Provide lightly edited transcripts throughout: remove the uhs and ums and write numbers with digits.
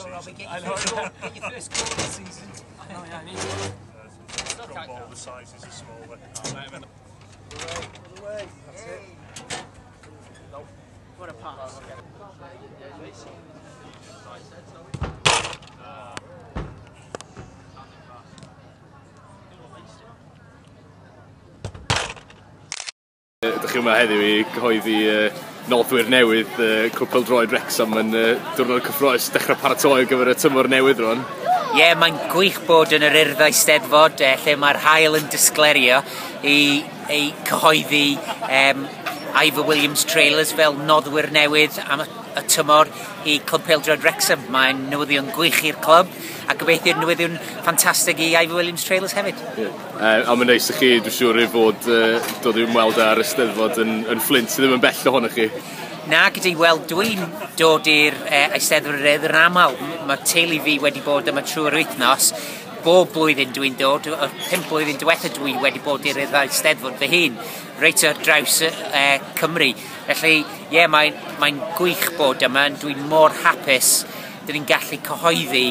Go, Robbie, get your first goal, get your first goal of the season. Oh yeah, I need one. Drop all the sizes are smaller. Other way. That's it. What a pass. Ydych chi yma heddiw i gyhoeddi noddwyr newydd Clwb Pêl-droed Wrecsam yn diwrnod cyffrous, dechrau paratoi ar gyfer y tymor newydd rwan. Ie, yeah, mae'n gwych bod yn yr Urdd Eisteddfod lle mae'r haul yn disglerio i cyhoeddi Ivor Williams Trailers fel noddwyr newydd am y tymor i Clwb Pêl-droed Wrecsam. Mae'n newyddion gwych i'r clwb a gobeithio'r newyddion ffantastig i Ivor Williams Trailers hefyd. Yeah. A mae'n neis i chi, dwi'n siŵr, i fod dod i ymweld ar y Steddfod yn Fflint, sydd ddim yn bell ohonoch chi. Na, gyda, wel, dwi'n dod i'r Eisteddfod yr Urdd yn aml. Mae teulu fi wedi bod yma trwy'r wythnos. Bob blwyddyn dwi'n dod, y 5 blwyddyn diwetha dwi wedi bod i'r Urdd Eisteddfod fy hun, reit ar draws Cymru. Felly, ie, yeah, mae'n gwych bod yma, dwi'n mor hapus dyn ni'n gallu cyhoeddi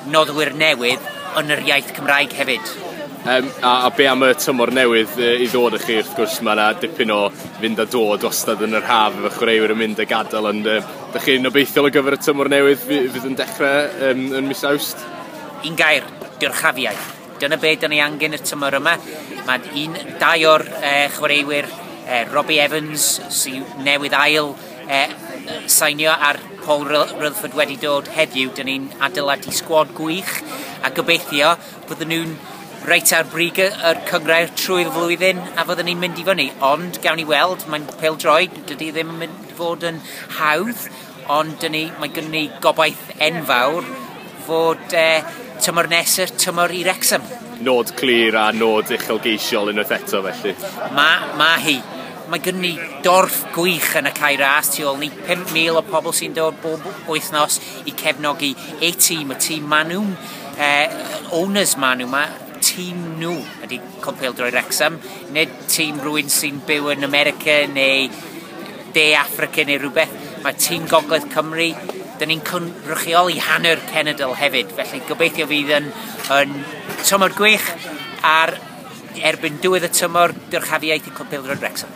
noddwyr newydd yn yr iaith Cymraeg hefyd. A be am y tymor newydd i ddod i chi, wrth gwrs mae yna dipyn o fynd a dod wastad yn yr haf efo chwaraewyr yn mynd a gadael, ond ydych chi'n obeithiol o gyfer y tymor newydd fydd yn dechrau yn mis Awst? Un gair, dyrchafiaeth. Dyna be dyn ni angen y tymor yma. Mae dau o'r chwaraewyr, Robbie Evans sy'n newydd ail sainio ar Paul Rutherford wedi dod heddiw. Dyn ni'n adeiladu sgwad gwych a gobeithio bydden nhw'n reit ar brig yr cynghrair trwy'r flwyddyn a fyddwn ni'n mynd i fyny. Ond gawn ni weld, mae'n pêl-droed, dydy ddim yn mynd i fod yn hawdd, ond mae gynnon ni gobaith enfawr fod tymor nesaf, tymor i Wrecsam. Nod clir a nod uchelgeisiol unwaith eto felly. Mae hi. Mae gynnon ni dorf gwych yn y Cae Ras tu ôl ni. 5,000 o pobl sy'n dod bob wythnos i cefnogi eu tîm, y tîm maen nhw'n, owners maen nhw, mae tîm nhw ydy Clwb Pêl-droed Wrecsam, nid tîm rhywun sy'n byw yn America neu De Affrica neu rhywbeth. Mae tîm Gogledd Cymru, dyn ni'n cynrychioli hanner cenedl hefyd, felly gobeithio fydd yn tymor gwych a'r erbyn diwedd y tymor dyrchafiaeth i Clwb Pêl-droed Wrecsam.